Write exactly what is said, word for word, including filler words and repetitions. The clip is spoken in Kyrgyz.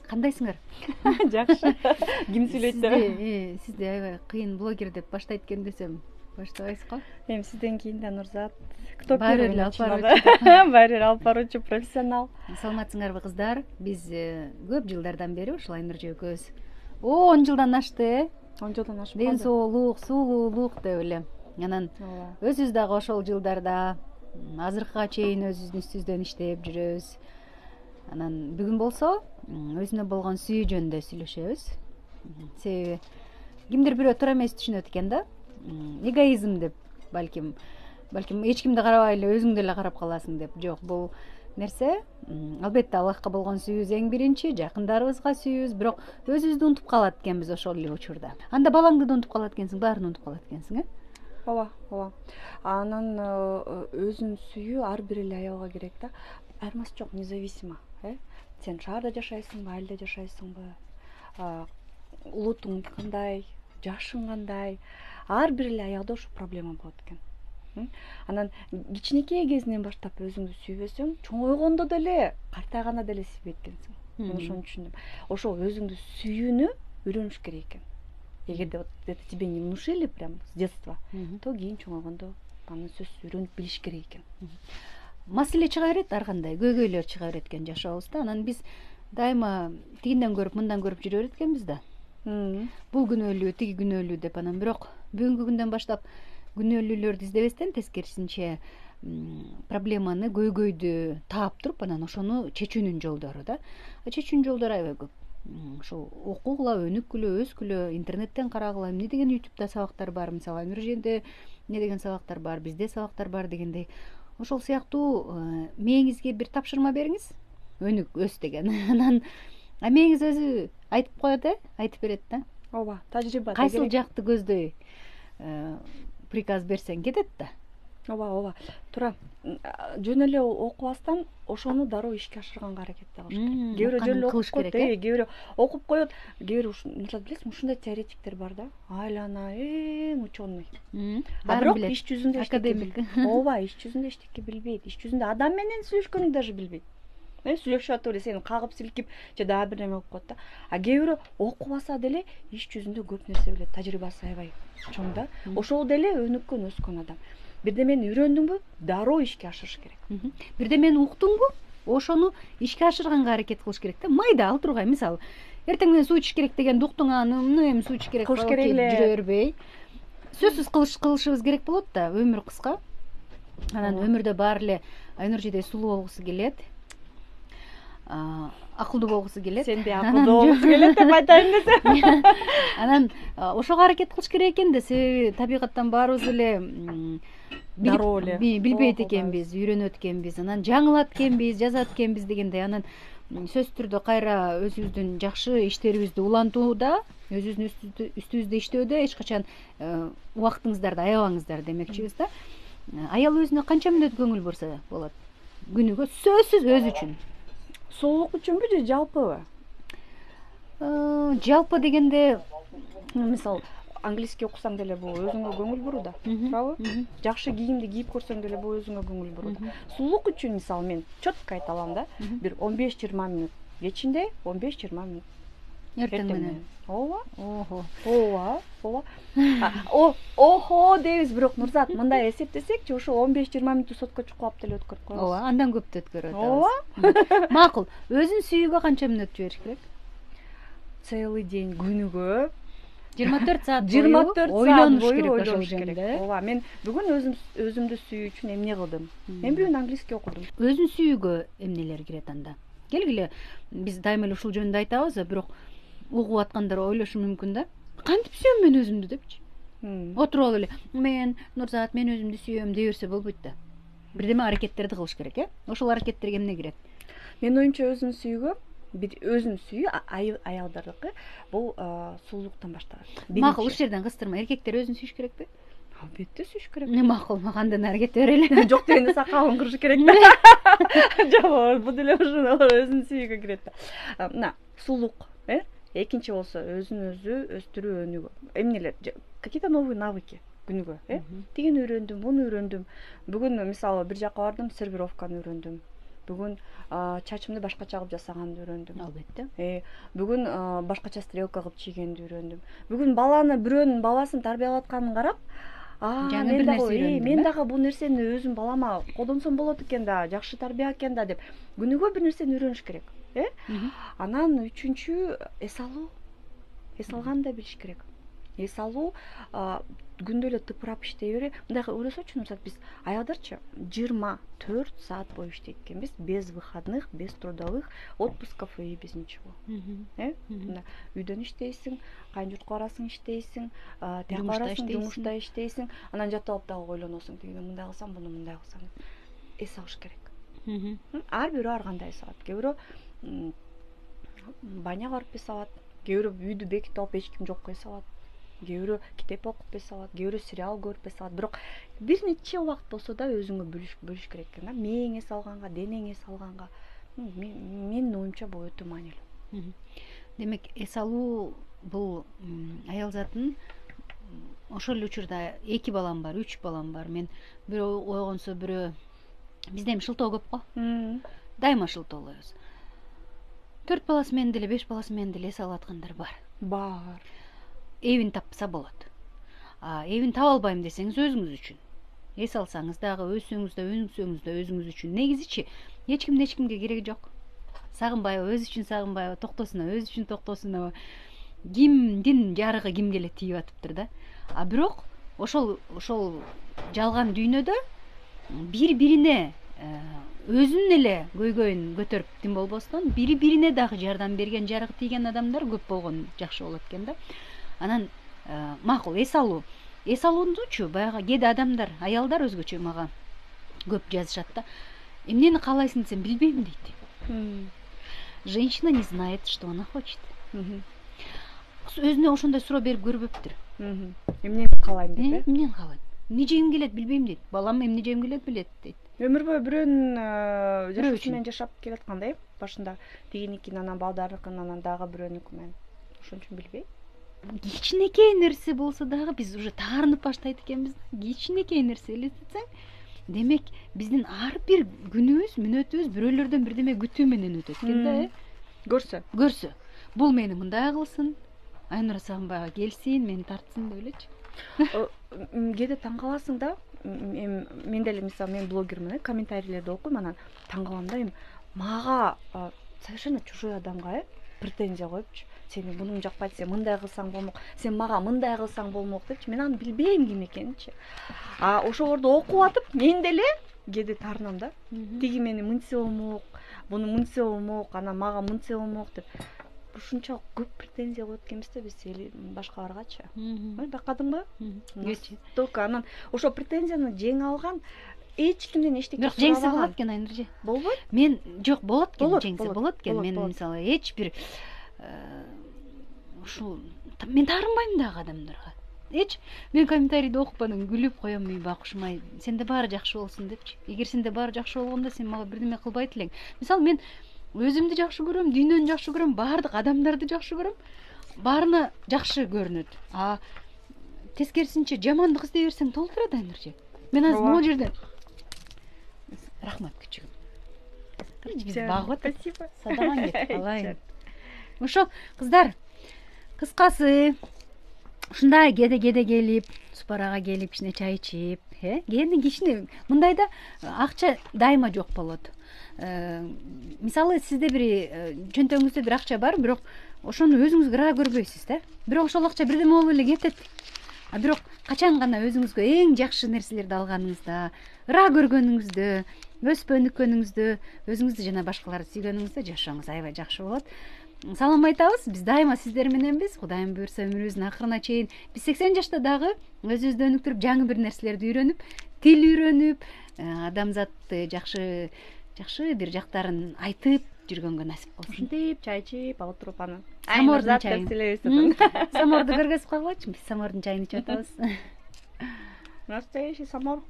Кандайсыңар? Жакшы. Ким сүйлөйт деп? Сизди аябай кыйын блогер деп баштайт экен десем, баштабайсызго? Эми сизден кийин да Нурзат. Кто Баары первый эле алып начинал? Баары эле алып баруучу профессионал. Саламатсыңарбы кыздар? Биз көп жылдардан бери ушул Айнуржа экөөбүз он жылдан ашты, э? он жылдан ашып Ден калды. соолук, сулуулук деп эле. Анан Ооба. өзүбүз дагы ошол жылдарда азыркыга чейин өзүбүздүн үстүбүздөн иштеп жүрөбүз. Анан бүгүн болсо өзүнө болгон сүйүү жөнүндө сүйлөшөбүз. Себеби кимдир бирөө туура эмес түшүнөт экен да. Эгоизм деп, балким, балким эч кимди карабай эле өзүңдү эле карап каласың деп. Жок, бул нерсе албетте Аллахка болгон сүйүүбүз эң биринчи, жакындарыбызга сүйүүбүз, бирок өзүбүздү унутуп калат экенбиз ошол эле учурда. Анда балаңды да унутуп калат экенсиң, баарын унутуп калат экенсиң, э? Ооба, ооба. Анан өзүн сүйүү ар бир эле аялга керек да. Айырмасы жок, независимо, э? Сен шаарда жашайсыңбы, айылда жашайсыңбы? Улутуң кандай, жашың кандай? Ар бир эле аялда ушул проблема болот экен. Анан кичинекей кезинен баштап өзүңдү сүйбөсөң, чоңойгондо деле, картайганда деле сүйбөйт экенсиң. Мен ошону түшүндүм. Ошол өзүңдү сүйүүнү үйрөнүш керек экен. Эгерде вот это тебе не внушили прям с детства, то кийин чоңойгондо аны сөзсүз үйрөнүп билиш керек экен. Маселе чыга берет, ар кандай көйгөйлөр чыга берет экен жашообузда. Анан биз дайыма тигинден көрүп, мындан көрүп жүрө берет экенбиз да. Бул күнөөлүү, тиги күнөөлүү деп. Анан бирок бүгүнкү күндөн баштап күнөөлүүлөрдү издебестен тескерисинче проблеманы, көйгөйдү таап туруп, анан ошону чечүүнүн жолдору да. Чечүүнүн жолдору аябай көп. Ошол окугула, өнүккүлө, өскүлө, интернеттен карагыла, эмне деген ютубта сабактар бар, мисалы Айнурженде эмне деген сабактар бар, бизде сабактар бар дегендей. Ошол сыяктуу мээңизге бир тапшырма бериңиз, өнүк, өс деген. Анан мээңиз өзү айтып коет, э, айтып берет да. Ооба, тажрыйба. Кайсыл жакты көздөй приказ берсең кетет да. Ооба, ооба. Туура. Жөн эле окубастан ошону дароо ишке ашырганга аракет кылыш керек. Кээ бирөө жөн эле окуп коет, э, кээ бирөө окуп коет, кээ бирөө ушундай билесиңби, ушундай теоретиктер бар да. Айлана эң ученый. А бирок иш жүзүндө академик. Ооба, иш жүзүндө эчтеке билбейт. Иш жүзүндө адам менен сүйлөшкөндү даже билбейт. Мен сүйлөшүп атып эле сени кагып силкип же дагы бир неме кылып коет да. А кээ бирөө окубаса деле иш жүзүндө көп нерсе билет, тажрыйбасы аябай чоң да. Ошол деле өнүккөн, өскөн адам. Бирдемени үйрөндүңбү, дароо ишке ашырыш керек. Бирдемени уктуңбу, ошону ишке ашырганга аракет кылыш керек да. Майда ал тургай, мисалы, эртең менен суу ичиш керек дегенди уктуң, аны эмне эми суу ичиш керек кылыш керек эле. Жүрө бербей. Сөзсүз кылыш кылышыбыз керек болот да, өмүр кыска. Анан өмүрдө баары эле Айнуржедей сулуу болгусу келет. Акылдуу болгусу келет. Сенде акылдуу болгусу келет деп айтайын десем. Анан ошого аракет кылыш керек экен да, себеби табигаттан баарыбыз эле дароо эле билбейт экенбиз, үйрөнөт экенбиз, анан жаңылат экенбиз, жазат экенбиз дегендей. Анан сөзсүз түрдө кайра өзүбүздүн жакшы иштерибизди улантууда, өзүбүздүн үстүбүздө иштөөдө эч качан убактыңыздарды аябаңыздар демекчибиз да. Аял өзүнө канча мүнөт көңүл бурса болот? Күнүгө сөзсүз өзү үчүн. Соолук үчүнбү же жалпыбы? Жалпы дегенде, мисалы, английский окусаң деле бул өзүңө көңүл буруу да, туурабы? Жакшы кийимди кийип көрсөң деле бул өзүңө көңүл буруу да. Сулуулук үчүн мисалы мен четко айта алам да, бир он беш жыйырма мүнөт кечинде, он беш жыйырма мүнөт эртең менен. Ооба. Ого. Ооба, ооба. О, охо дейбиз, бирок Нурзат, мындай эсептесекчи, ошо он беш жыйырма мүнөттү сотко чукулап деле өткөрүп коебуз. Ооба, андан көптү өткөрүп атабыз. Ооба. Макул. Өзүн сүйүүгө канча мүнөт жибериш керек? Целый день, күнүгө жыйырма төрт саат бою жыйырма төрт ойлонуш саат керек бою ошол ойлонуш керек. жөнүндө. Ооба, мен бүгүн өзүм өзүмдү сүйүү үчүн эмне кылдым? Мен бүгүн английский окудум. Өзүн сүйүүгө эмнелер кирет анда? Келгиле, биз дайыма эле ушул жөнүндө айтабыз, бирок угуп аткандар ойлошу мүмкүн да. Кантип сүйөм мен өзүмдү депчи. Отуруп алып эле, мен Нурзат, мен өзүмдү сүйөм дей берсе болбойт да. Бирдеме аракеттерди кылыш керек, э? Ошол аракеттерге эмне кирет? Менин оюмча өзүн сүйүүгө, бир өзүн сүйүү аялдардыкы бул сулуулуктан башталат. Макул, ушул жерден кыстырма, эркектер өзүн сүйүш керекпи? Албетте сүйүш керек. Макул, андан ары кете берели. Жок дегенде сакалын кырыш керек да. Жок, бул деле ошону өзүн сүйүүгө кирет да. Мына, сулуулук, э? Экинчи болсо өзүн өзү өстүрүү, өнүгүү. Эмнелер? Какие-то новые навыки күнүгө, э? Тигини үйрөндүм, муну үйрөндүм. Бүгүн мисалы бир жака бардым, сервировканы үйрөндүм. бүгүн чачымды башкача кылып жасаганды үйрөндүм. Албетте. Бүгүн башкача стрелка кылып чийгенди үйрөндүм. Бүгүн баланы бирөөнүн бабасын тарбиялап атканын карап, жаңы бир нерсе үйрөндүм. Мен дагы бул нерсени өзүм балама колдонсом болот экен да, жакшы тарбия экен да деп күнүгө бир нерсени үйрөнүш керек. Э? Анан үчүнчү эс алуу. Эс алганды билиш керек. Эс алуу күндө эле тыпырап иштей бере. Мындай ойлосочу, мисалы биз аялдарчы жыйырма төрт саат бою иштейт экенбиз, без выходных, без трудовых отпусков и без ничего. Э? Мындай үйдөн иштейсиң, кайын журтка барасың, иштейсиң, тияка барасың, жумушта иштейсиң, анан жатып алып дагы ойлоносуң, тигине мындай кылсам, буну мындай кылсам. Эс алыш керек. Ар бирөө ар кандай эс алат. Кээ бирөө баняга барып эс алат, кээ бирөө үйдү бекитип алып эч ким жокко эс алат. Кээ бирөө китеп окуп эс алат, кээ бирөө сериал көрүп эс алат. Бирок бир нече убакыт болсо да өзүңө бөлүш бөлүш керек экен да. Мээң эс алганга, денең эс алганга. Менин оюмча бул өтө маанилүү. Демек, эс алуу бул аял затын ошол эле учурда эки балам бар, үч балам бар. Мен бирөө ойгонсо бирөө бизде эми шылтоо көп го. Дайыма шылтоолойбуз. төрт баласы менен деле, беш баласы менен деле эс алып аткандар бар. Бар. Эбин тапса болот. А эбин таба албайм десеңиз өзүңүз үчүн. Эс алсаңыз дагы өссөңүз да, өнүксөңүз да өзүңүз үчүн. Негизичи эч кимдин эч кимге кереги жок. Сагынбайбы, өзү үчүн сагынбайбы, токтосунабы, өзү үчүн токтосунабы. Кимдин жарыгы кимге эле тийип атыптыр да. А бирок ошол ошол жалган дүйнөдө бири-бирине өзүнүн эле көйгөйүн көтөрүп тим болбостон, бири-бирине дагы жардам берген, жарыгы тийген адамдар көп болгон жакшы болот экен да. Анан макул эс алуу. Эс алуучу баягы кээде адамдар, аялдар өзгөчө мага көп жазышат да. Эмнени каалайсың десем, билбейм дейт. Женщина не знает, что она хочет. Өзүнө ошондой суроо берип көрбөптүр. Эмнени каалайм деп, э? Эмнени каалайм? Эмне жегим келет билбейм дейт. Балам эмне жегим келет билет дейт. Өмүр бою бирөөнүн жашоосу менен жашап келатканда, э? Башында тигиникин, анан балдарыныкын, анан дагы бирөөнүкү менен. Ошон үчүн билбейм. Кичинекей нерсе болсо дагы биз уже таарынып баштайт экенбиз. Кичинекей нерсе элестетсең, демек биздин ар бир күнүбүз, мүнөтүбүз бирөөлөрдөн бирдеме күтүү менен өтөт экен да, э? Көрсө. Көрсө. Бул мени мындай кылсын, Айнура Сагынбайга келсин, мени тартсын деп элечи. Кээде таң каласың да, мен деле мисалы мен блогермин, э, комментарийлерди окуйм, анан таң калам да, эми мага совершенно чужой адамга, э, претензия коюпчу. Сен муну жакпайт, сен мындай кылсаң болмок, сен мага мындай кылсаң болмок депчи. Мен аны билбейм ким экенинчи. А ошолорду окуп атып, мен деле кээде таарынам да. Тиги мени мынтсе болмок, буну мынтсе болмок, анан мага мынтсе болмок деп. Ушунча көп претензия коет экенбиз да биз башкаларгачы. Байкадыңбы? Только анан ошо претензияны жеңе алган эч кимден эчтеке сурабаган. Бирок жеңсе болот экен, Айнуржи. Болбойт? Мен жок, болот экен, жеңсе болот экен. Мен мисалы эч бир ушул мен таарынбайм дагы адамдарга. Эч мен комментарийди окуп анан күлүп коем, мен бакушмай, сенде баары жакшы болсун депчи. Эгер сенде баары жакшы болгондо сен мага бирдеме кылбайт элең. Мисалы мен өзүмдү жакшы көрөм, дүйнөнү жакшы көрөм, баардык адамдарды жакшы көрөм. Баарына жакшы көрүнөт. А тескерисинче жамандык издей берсең толтурат, Айнуржи. Мен азыр могу жерден рахмат күчүгүм. Биз багып атат. Спасибо. Садаган кетип калайын. Ошол кыздар, кыскасы ушундай кеде-кеде келип, супарага келип, кичине чай ичип, э? Кээде кичине мындайда акча дайыма жок болот. Мисалы сизде бир чөнтөгүңүздө бир акча бар, бирок ошону өзүңүз кыра көрбөйсүз да. Бирок ошол акча бирдеме болуп эле кетет. А бирок качан гана өзүңүзгө эң жакшы нерселерди алганыңызда, ыра көргөнүңүздө, өсүп өнүккөнүңүздө, өзүңүздү жана башкаларды сүйгөнүңүздө жашооңуз аябай жакшы болот. Салам айтабыз. Биз дайыма сиздер мененбиз. Кудайым буйрса өмүрүбүздүн акырына чейин биз сексен жашта дагы өзүбүздү өнүктүрүп, жаңы бир нерселерди үйрөнүп, тил үйрөнүп, адамзатты жакшы жакшы бир жактарын айтып жүргөнгө насип болсун. Ушинтип чай ичип, отуруп анан самордун чайын. Саморду көргөзүп койгойчу. Биз самордун чайын ичип атабыз. Настоящий самор.